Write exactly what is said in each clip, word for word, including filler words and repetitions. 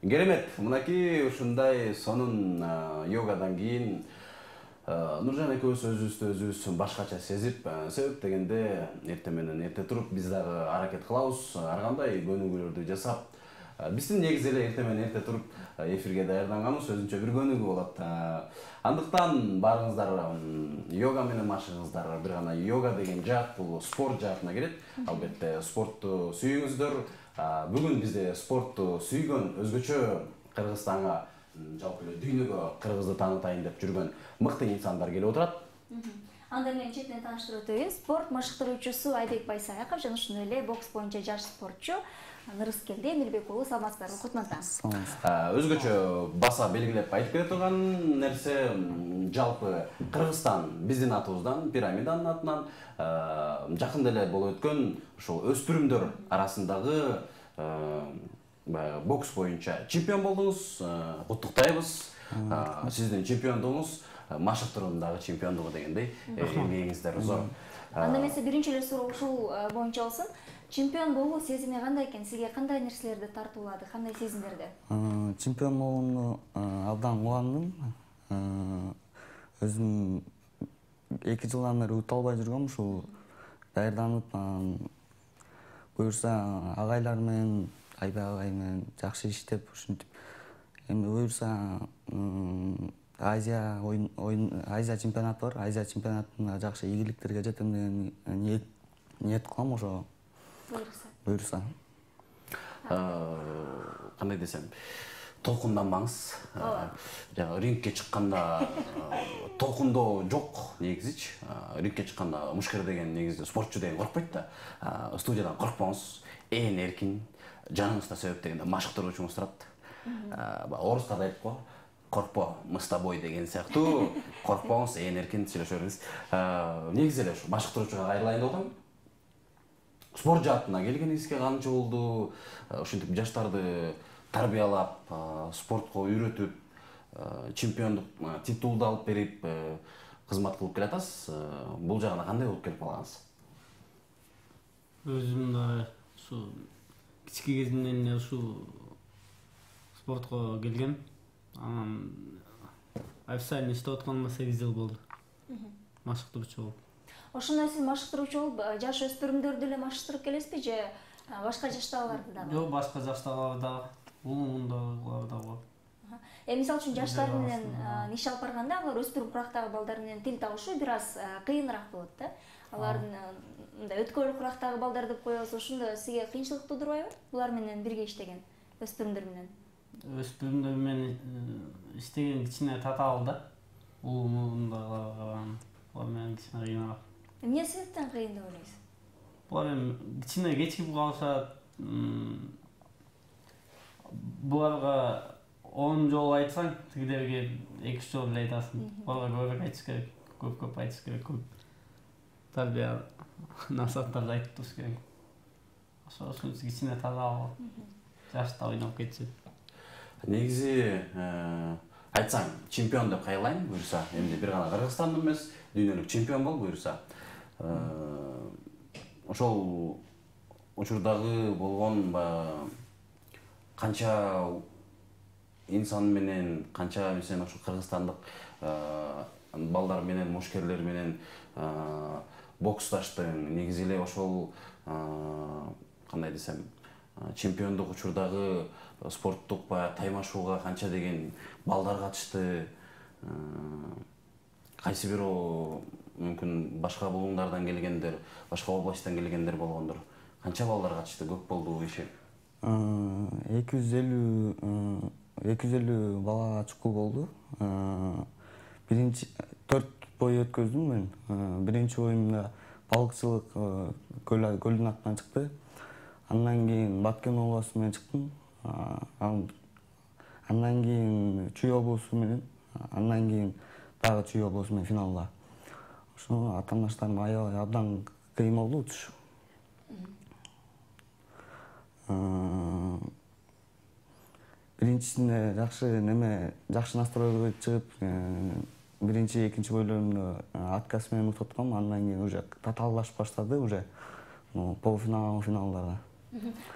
Керемет. Мынакей ушундай сонун йогадан кийин Нуржан экөөбүз өзүбүздү өзүбүз башкача сезип, себеп дегенде эртең менен эрте туруп биз дагы аракет кылабыз, ар кандай көнүгүүлөрдү жасап. Биздин негизи эле эртең менен эрте туруп эфирге даярданганыбыз өзүнчө бир көнүгүү болот. Андыктан баарыңыздар йога менен машыгыңыздар. Бир гана йога деген жаат бул спорт жаатына кирет. Албетте спортту сүйүңүздөр. Бүгүн бизде спортту сүйгөн өзгөчө Кыргызстанга, жалпы эле дүйнөгө Кыргызды таанытайын деп жүргөн мыкты инсандар келип отурат. Анда менен четинен тааныштырып өтөйүн. Спорт машыктыруучусу Айбек Байсаяков жана ошондой эле бокс боюнча жаш спортчу Нырыскелди Эмилбек уулу. Саламатсыздарбы? Кутман таң. Өзгөчө баса белгилеп айтып келе турган нерсе, жалпы Кыргызстан биздин атыбыздан, пирамиданын атынан жакында эле болуп өткөн ушул өспүрүмдөр арасындагы бокс боюнча чемпион болдуңуз. Куттуктайбыз. Сиздин чемпиондугуңуз машыктыруудагы чемпиондугу дегендей эмгегиңиздер зор. Анда эмесе биринчи эле суроо ушул боюнча болсун. Чемпион болуу сезими кандай экен? Сизге кандай нерселерди тартуулады? Кандай сезимдерди? Чемпион болгону абдан кубандым. Өзүм эки жылдан бери ута албай жүргөм, ушул даярданып, буюрса агайлар менен, Айбек агай менен жакшы иштеп, ушинтип эми буюрса Азия оюн Азия чемпионаты бар. Азия чемпионатында жакшы ийгиликтерге жетем деген ниет ниет кылам ошо. Буюрса. Буюрса. Кандай десем, толкунданбаңыз. Жана рингке чыкканда толкундоо жок негизичи. Рингке чыкканда мушкер деген негизи спортчу деген коркпойт да. Студиядан коркпоңуз, ээн эркин, жаныңызда себеп дегенде машыктыруучуңуз турат. Орустар айтып го, коркпо, мы с тобой деген сыяктуу, коркпоңуз, ээн эркин сүйлөшө бериңиз. Негизи эле ушу машыктыруучуга кайрылайын деп атам. Спорт жаатына келгениңизге канча болду? Ушинтип жаштарды тарбиялап, спортко үйрөтүп, чемпиондук титулду алып берип, кызмат кылып келатасыз. Бул жагына кандай болуп келип калгансыз? Өзүм да ушу кички кезимден эле ушу спортко келгем. Анан официально иштеп атканыма сегиз жыл болду. Машыктыруучу болуп. Ошондо сиз машыктыруучу болуп, жаш өспүрүмдөрдү эле машыктырып келесизби же башка жаштагыларды дагы? Жок, башка жаштагыларды дагы, улуундагыларды дагы. Эми мисалы үчүн жаштар менен иш алып барганда, алар өспүрүм курактагы балдар менен тил табышуу бир аз кыйыныраак болот да. Алардын мындай өткөл курактагы балдар деп коебуз, ошондо сизге кыйынчылык туудурбайбы? Булар менен бирге иштеген, өспүрүмдөр менен. Өспүрүмдөр менен иштеген кичине татаал да. Улуундагылар булар менен кичине кыйыныраак. Эмне себептен кыйын деп ойлойсуз? Булар эми кичине кечигип калышат. Буларга он жолу айтсаң, тигилерге эки үч жолу эле айтасың. Буларга көбүрөөк айтыш керек, көп-көп айтыш керек, көп тарбия насааттарды айтып туруш керек. Ошо үчүн кичине таза жашта ойноп кетчү. Негизи айтсаң, чемпион деп кайрылайын буюрса, эмне бир гана Кыргызстандын эмес, дүйнөлүк чемпион бол буюрса. Ошол учурдагы болгон канча инсан менен, канча мисен ошо кыргызстандык балдар менен, мушкерлер менен боксташтың, негизи эле ошол кандай десем, чемпиондук учурдагы спорттук таймашууга канча деген балдар катышты. Кайсы бирөө мүмкүн башка булуңдардан келгендер, башка областтан келгендер болгондур. Канча балдар катышты, көп болду иши? эки жүз элүү эки жүз элүү бала чукул болду. Биринчи төрт бой өткөздүм мен. Биринчи боюмда балыкчылык көлдүн артынан чыкты. Андан кийин Баткен обласу менен чыктым. Андан кийин Чүй обласу менен, андан кийин дагы Чүй обласу менен финалда. Ошо атаандаштарым аябай абдан кыйын болду учуш. Биринчисинде жакшы неме, жакшы настройго чыгып, биринчи, экинчи бойлорумду отказ менен тотком, андан кийин уже татааллашып баштады уже полуфинал, финалдарда.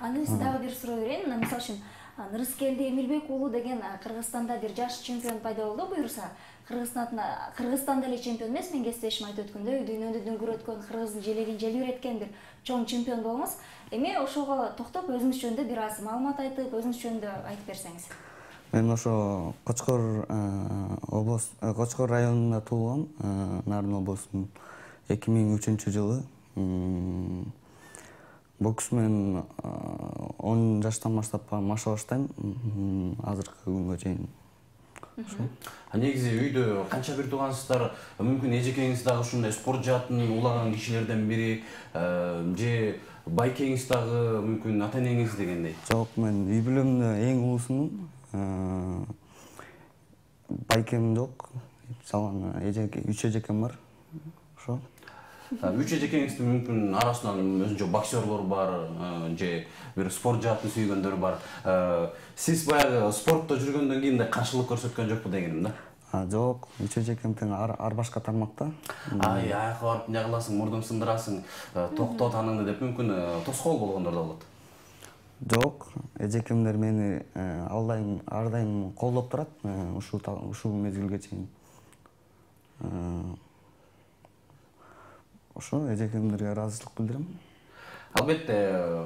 Аны сиз дагы бир суроо берейин. Мисалы үчүн Нырыскелди Эмилбек уулу деген Кыргызстанда бир жаш чемпион пайда болду. Буюрса, Кыргызстанда Кыргызстанда эле чемпион эмес, мен кесиптешим айтып өткөндөй, дүйнөнү дүңгүр өткөн, Кыргыздын желегин желбиреткен бир чоң чемпион болуңуз. Эми ошого токтоп өзүңүз жөнүндө бир аз маалымат айтып, өзүңүз жөнүндө айтып берсеңиз. Мен ошо Кочкор облус, Кочкор районунда туулгам, Нарын облусунун эки миң үчүнчү жылы. Бокс менен он жаштан баштап маша баштайм, азыркы күнгө чейин. Негизи үйдө канча бир туугансыздар? Мүмкүн эжекеңиз дагы ушундай спорт жаатын улаган кишилерден бири, же байкеңиз дагы мүмкүн ата энеңиз дегендей? Жок, мен үй бүлөмдө эң улуусумун. Байкем жок. Салган эжеке, үч эжекем бар. Ошо. Үч эжекеңиздин мүмкүн арасынан өзүнчө боксерлор бар, же бир спорт жаатын сүйгөндөр бар. Сиз баягы спортто жүргөндөн кийин да каршылык көрсөткөн жокпу дегеним да? Жок, үч эжекем тең ар башка тармакта. Ай, аяка барып эмне кыласың, мурдуң сындырасың, токто таныңды деп мүмкүн тоскоол болгондор да болот. Жок, эжекемдер мени ар дайым ар дайым колдоп турат, ушул ушул мезгилге чейин. Ошо эжекемдерге ыраазычылык билдирем. Албетте,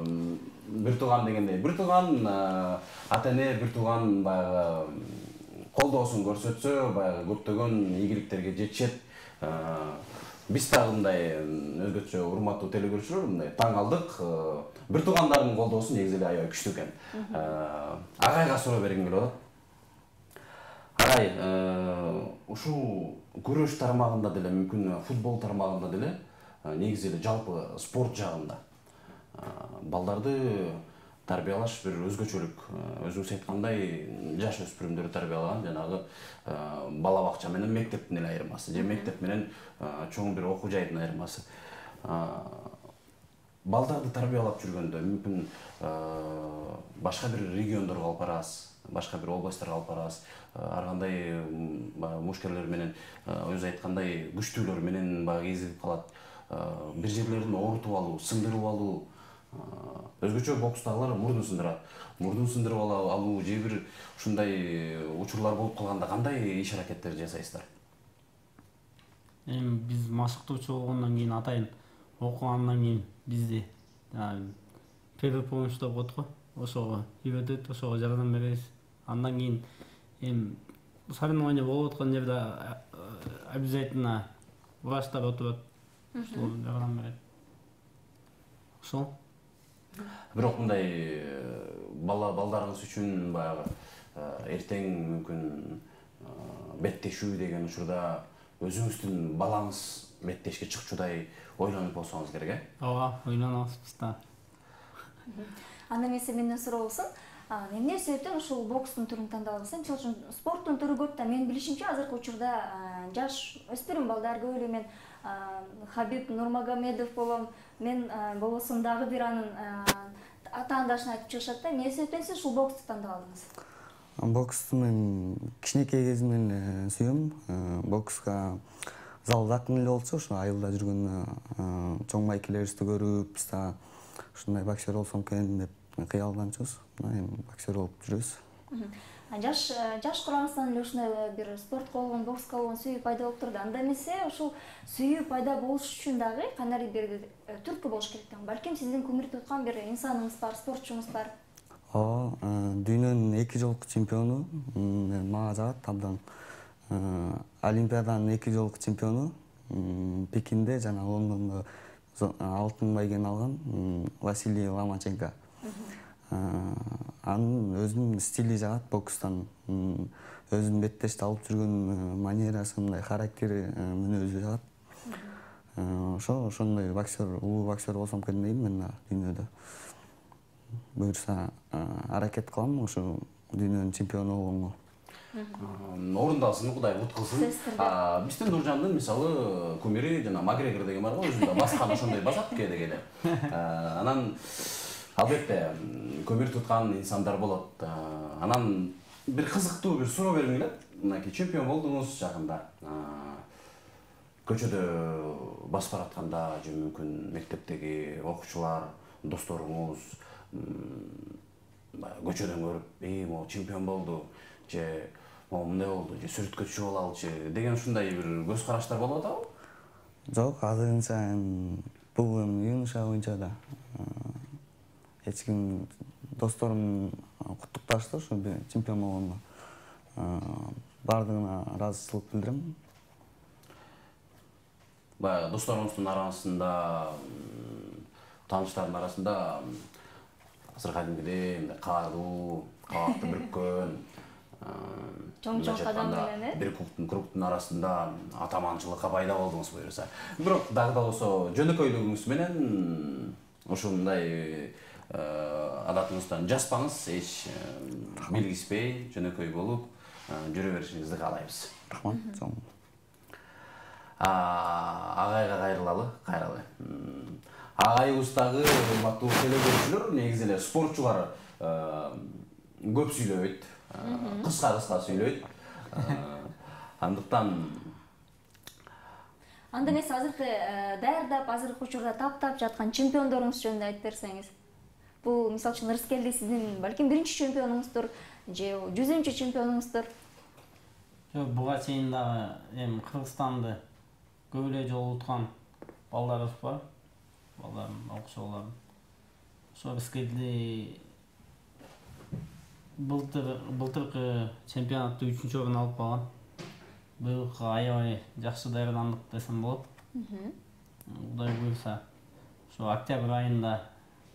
бир тууган дегендей, бир тууган ата эне, бир тууган баягы колдоосун көрсөтсө, баягы көптөгөн ийгиликтерге жетишет. Биз дагы мындай өзгөчө урматтуу телекөрүүчүлөр мындай таң калдык. Бир туугандардын колдоосу негизи эле аябай күчтүү экен. Агайга суроо бергим келип атат. Агай, ушул күрөш тармагында деле, мүмкүн футбол тармагында деле, негизи эле жалпы спорт жагында балдарды тарбиялаш бир өзгөчөлүк. Өзүңүз айткандай, жаш өспүрүмдөрдү тарбиялаган жанагы бала бакча менен мектептин эле айырмасы, же мектеп менен чоң бир окуу жайдын айырмасы. Балдарды тарбиялап жүргөндө мүмкүн башка бир региондорго алып барасыз, башка бир областарга алып барасыз. Ар кандай мушкерлер менен, өзү айткандай, күчтүүлөр менен баягы кезигип калат. Бир жерлерин оорутуп алуу, сындырып алуу. Өзгөчө бокстагылар мурдун сындырат. Мурдун сындырып алуу же бир ушундай учурлар болуп калганда кандай иш аракеттер жасайсыздар? Эми биз машыктоочу болгондон кийин атайын окугандан кийин бизди первый помощь деп коет го. Ошого үйрөтөт, ошого жардам беребиз. Андан кийин эми соревнование болуп аткан жерде обязательно врачтар отурат. Ошол жардам берет. Ошол. Бирок мындай бала балдарыңыз үчүн баягы эртең мүмкүн беттешүү деген учурда өзүңүздүн балаңыз беттешке чыкчудай ойлонуп болсоңуз керек, э? Ооба, ойлонобуз биз да. Анда эмесе менден суроо болсун. Эмне себептен ушул бокстун түрүн тандадыңыз? Мисалы үчүн спорттун түрү көп да, менин билишимче азыркы учурда жаш өспүрүм балдар көп эле. Мен Хабиб Нурмагомедов болом, мен болосом дагы бир анын атаандашын айтып чыгышат да. Эмне себептен сиз ушул боксту тандап алдыңыз? Боксту мен кичинекей кезимден сүйөм. Бокска зал жакын эле болчу, ошо айылда жүргөндө чоң байкелерибизди көрүп, биз да ушундай боксер болсом экен деп кыялданчубуз. Эми боксер болуп жүрөбүз. Жаш жаш курамыңыздан эле ушундай бир спортко болгон, бокска болгон сүйүү пайда болуп турду. Анда эмесе ушул сүйүү пайда болуш үчүн дагы кандай бир түрткү болуш керек да. Балким сиздин көңүл туткан бир инсаныңыз бар, спортчуңуз бар. Ооба, дүйнөнүн эки жолку чемпиону, мага жагат абдан. Олимпиаданын эки жолку чемпиону, Пекинде жана Лондондо алтын байгени алган Василий Ломаченко. Анын өзүнүн стили жагат бокстан. Өзүнүн беттешти алып жүргөн манерасы, мындай характери, мүнөзү жагат. Ошо ошондой боксер, улуу боксер болсом экен дейм мен дүйнөдө. Буюрса аракет кылам ошо дүйнөнүн чемпиону болгонго. Орундалсын, Кудай кут кылсын. Биздин Нуржандын мисалы кумири жана Макгрегор деген бар го, өзүндө баскан ошондой басат кээде кээде. Анан албетте көмүр туткан инсандар болот. Анан бир кызыктуу бир суроо бергим келет. Мынакей чемпион болдуңуз жакында. Көчөдө басып баратканда же мүмкүн мектептеги окуучулар, досторуңуз баягы көчөдөн көрүп, "Эй, могу чемпион болду" же "Могу мындай болду" же "Сүрөткө түшүп алалычы" деген ушундай бир көз караштар болуп атабы? Жок, азырынча бул эми юноша боюнча да эч ким досторум куттукташты ушу чемпион болгондо. Бардыгына ыраазычылык билдирем. Баягы досторуңуздун арасында, тааныштардын арасында азыр кадимгидей мындай каалуу, кабакты бүрккөн, чоң-чоң кадам менен э? бир клубтун кругтун арасында атаманчылыкка пайда болдуңуз буюрса. Бирок дагы да болсо жөнөкөйлүгүңүз менен ушундай адатыңыздан жаспаңыз, эч белгиспей, жөнөкөй болуп жүрө беришиңизди каалайбыз. Рахмат, чоң. Агайга кайрылалы, кайралы. Агайыбыздагы урматтуу телекөрүүчүлөр, негизи эле спортчулар көп сүйлөбөйт, кыска-кыска сүйлөйт. Андыктан анда эмес, азыркы даярдап, азыркы учурда таптап жаткан чемпиондоруңуз жөнүндө айтып берсеңиз. Бул мисалы үчүн Ырыскелди сиздин балким биринчи чемпионуңуздур же жүзүнчү чемпионуңуздур. Жок, буга чейин дагы эми Кыргызстанды көп эле жолу уткан балдарыбыз бар. Балдарым, окшоолорум. Ошо Ырыскелди былтыр былтыркы чемпионатты үчүнчү орун алып калган. Быйылкы аябай жакшы даярдандык десем болот. Кудай буйрса, ошо октябрь айында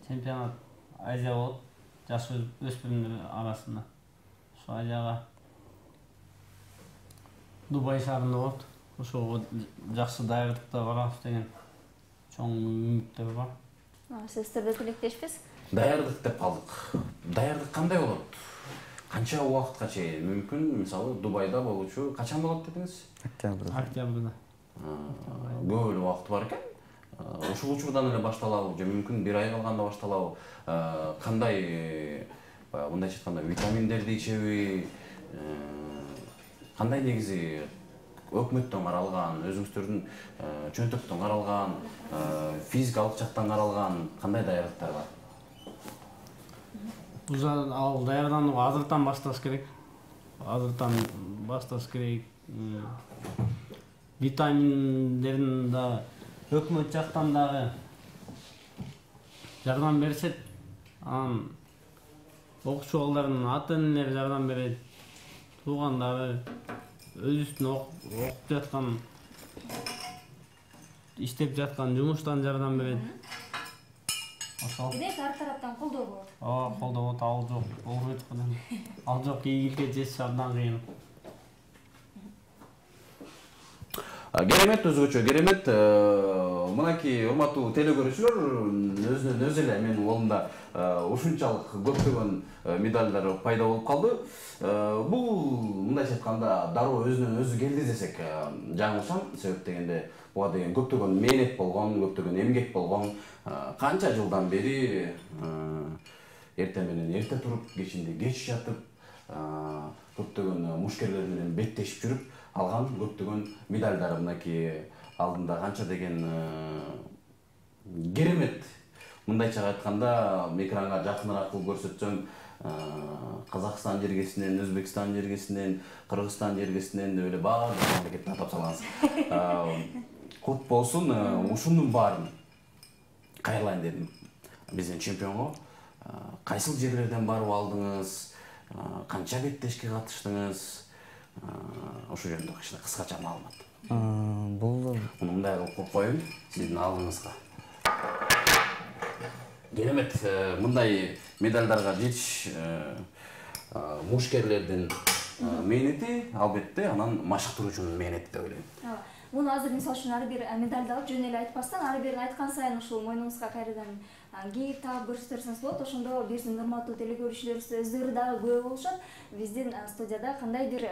чемпионат Азия болот, жаш өспүрүмдөр арасында. Ошо Азияга Дубай шаарында болот. Ошого жакшы даярдыкта барабыз деген чоң үмүттөр бар. Сиздер да тилектешпиз? Даярдык деп калдык. Даярдык кандай болот? Канча убакытка чейин мүмкүн? Мисалы, Дубайда болучу качан болот дедиңиз? Октябрда. Октябрда. Көп эле убакыт бар экен. Ушул учурдан эле башталабы же мүмкүн бир ай калганда башталабы? Кандай, баягы мындайча айтканда, витаминдерди ичеби? Кандай негизи өкмөттөн каралган, өзүңүздөрдүн чөнтөктөн каралган, физикалык жактан каралган кандай даярдыктар бар? Ал даярданууга азыртан башташ керек. Азыртан башташ керек. Витаминдерин да өкмөт жактан дагы жардам беришет. Анан окуучулардын ата-энелери жардам берет. Туугандары өзүнүн окуп жаткан, иштеп жаткан жумуштан жардам берет. Ошол. Демек, ар тараптан колдоо болот. Ооба, колдоо болот, ал жок. Болбойт го. Ал жок, ийгиликке жетиш абдан кыйын. Керемет, өзгөчө керемет. Мынакей урматтуу телекөрүүчүлөр, өзүнөн өзү эле менин колумда ушунчалык көптөгөн медалдар пайда болуп калды. Бул мындайча айтканда дароо өзүнөн өзү келди десек жаңылышам. Себеп дегенде буга деген көптөгөн мээнет болгон, көптөгөн эмгек болгон. Канча жылдан бери эртең менен эрте туруп, кечинде кеч жатып, көптөгөн мушкерлер менен беттешип жүрүп алган көптөгөн медалдар мынакей алдында канча деген керемет. Мындайча айтканда, экранга жакыныраак кылып көрсөтсөм, Казакстан жергесинен, Өзбекстан жергесинен, Кыргызстан жергесинен деп эле баардык мамлекеттин атап салгансыз. Кут болсун, ушунун баарын кайрылайын дедим биздин чемпионго. Кайсыл жерлерден барып алдыңыз, канча беттешке катыштыңыз, ошол жөнүндө кичине кыскача маалымат. Бул Муну мындай кылып коеюн сиздин алдыңызга. Керемет, мындай медалдарга жетиш мушкерлердин мээнети, албетте, анан машыктыруучунун мээнети деп ойлойм. Муну азыр мисалы үчүн ар бир медалды алып жөн эле айтпастан, ар бирин айткан сайын ушул мойнуңузга кайрадан кийип таап көрсөтөрсөңүз болот. Ошондо биздин урматтуу телекөрүүчүлөрүбүз өздөрү дагы күбө болушат. Биздин студияда кандайдыр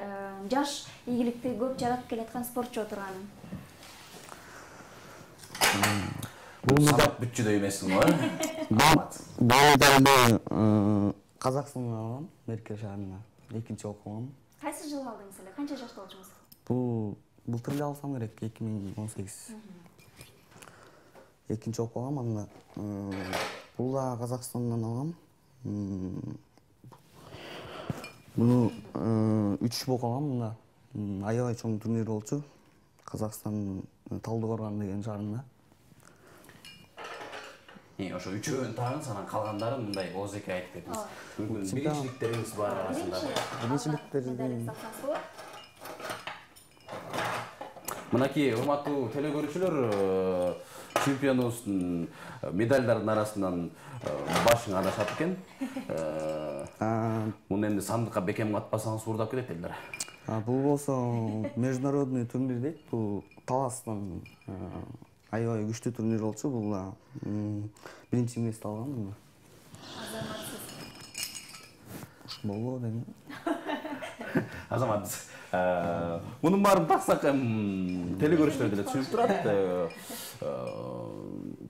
жаш ийгиликти көп жаратып келаткан спортчу отурганын. Бул сабак бүтчүдөй эмессиң го, э? Маалымат. Бул медалды Казакстандан алгам, Мерке шаарында. Экинчи окугам. Кайсы жылы алдыңыз эле? Канча жашта болчуңуз? Бул былтыр эле алсам керек, эки миң он сегиз. Экинчи окугам анда. Бул да Казакстандан алгам. Муну үч болуп калган мында. Аябай чоң турнир болчу. Казакстандын Талдыкорган деген шаарында. Ошо үчөөнү тагыңыз, анан калгандарын мындай оозеке айтып кетиңиз. Мүмкүн биринчиликтериңиз бар арасында. Биринчиликтерди Мынакей урматтуу телекөрүүчүлөр, чемпионубуздун медальдардын арасынан башың адашат экен. Муну эмне сандыкка бекем катпасаңыз уурдап кетет элдер. Бул болсо международный турнир дейт. Бул таластан аябай күчтүү турнир болчу. Бул биринчи место алган мына. Азаматсыз. Болбу дейм. Азаматсыз. Мунун баарын таксак телекөрүүчүлөр деле түшүнүп турат.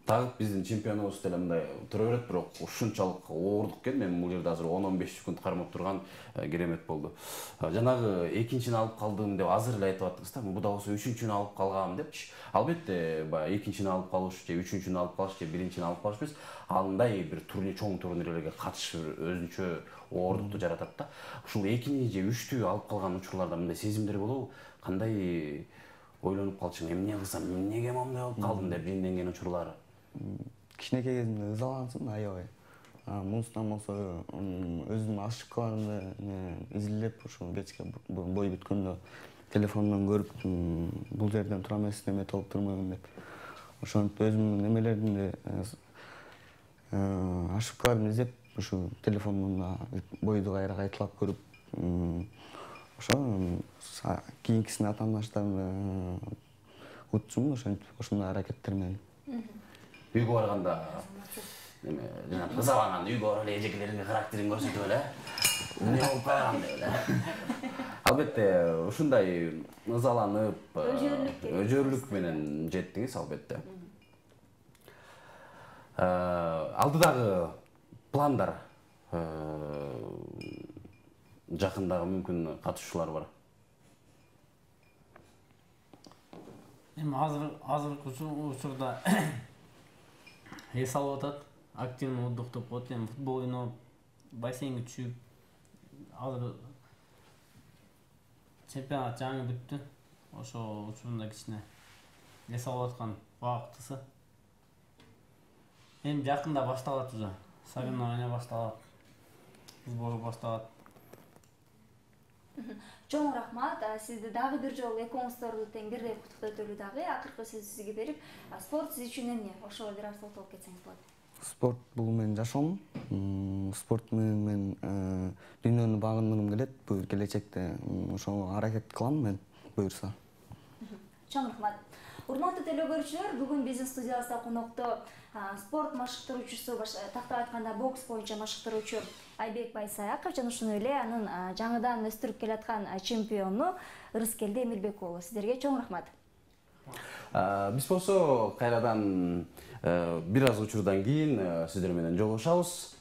Тагып биздин чемпионубуз деле мындай тура берет, бирок ушунчалык оордук экен. Мен бул жерде азыр он он беш секунд кармап турган керемет болду. Жанагы экинчини алып калдым деп азыр эле айтып аттыңыз да, буда болсо үчүнчүнү алып калгам депчи. Албетте, баягы экинчини алып калыш же үчүнчүнү алып калыш же биринчини алып калыш эмес, андай бир турнир, чоң турнирлерге катышып өзүнчө оордукту жаратат да. Ушул экини же үчтү алып калган учурларда мындай сезимдер болобу? Кандай ойлонуп калчың, эмне кылсам, эмнеге моундай болуп калдым деп жинденген учурлары? Кичинекей кезимде ызалансым аябай. Мунустан болсо өзүмдүн ошибкаларымды изилдеп, ошо кечке бой бүткөндө телефондон көрүп, бул жерден туура эмес неме болуп турмайбын деп. Ошентип өзүмдүн немелеримди, ошибкаларымды издеп, ушу телефондон бойду кайра кайталап көрүп, ошо кийинкисине атаандаштарымды утчумун, ошентип ошондой аракеттер менен. Үйгө барганда неме, жана ызаланган үйгө барып эле эжекелериңе характериңди көрсөтүп эле, эмне болуп калган деп эле. Албетте, ушундай ызаланып, өжөрлүк менен жеттиңиз, албетте. Алдыдагы пландар, жакындагы мүмкүн катышуулар бар. Эми азыр азыркы учурда эс алып атат, активный отдыхтоп коет, эми футбол ойноп, бассейнге түшүп, азыр чемпионат жаңы бүттү. Ошо учурунда кичине эс алып аткан убактысы. Эми жакында башталат уже. Соревнования башталат. Сбор башталат. Чоң рахмат. Сизди дагы бир жолу экөөңүздөрдү тең бирдей куттуктойлу дагы. Акыркы сөздү сизге берип, спорт сиз үчүн эмне? Ошого бир аз токтолуп кетсеңиз болот. Спорт бул менин жашоом. Спорт менен мен дүйнөнү багындыргым келет. Бул келечекте ошого аракет кылам мен, буюрса. Чоң рахмат. Урматтуу телекөрүүчүлөр, бүгүн биздин студиябызда конокто спорт машыктыруучусу, тактап айтканда бокс боюнча машыктыруучу Айбек Байсаяков жана ошондой эле анын жаңыдан өстүрүп келаткан чемпиону Ырыскелди Эмилбек уулу. Сиздерге чоң рахмат. Биз болсо кайрадан бир аз учурдан кийин сиздер менен жолугушабыз.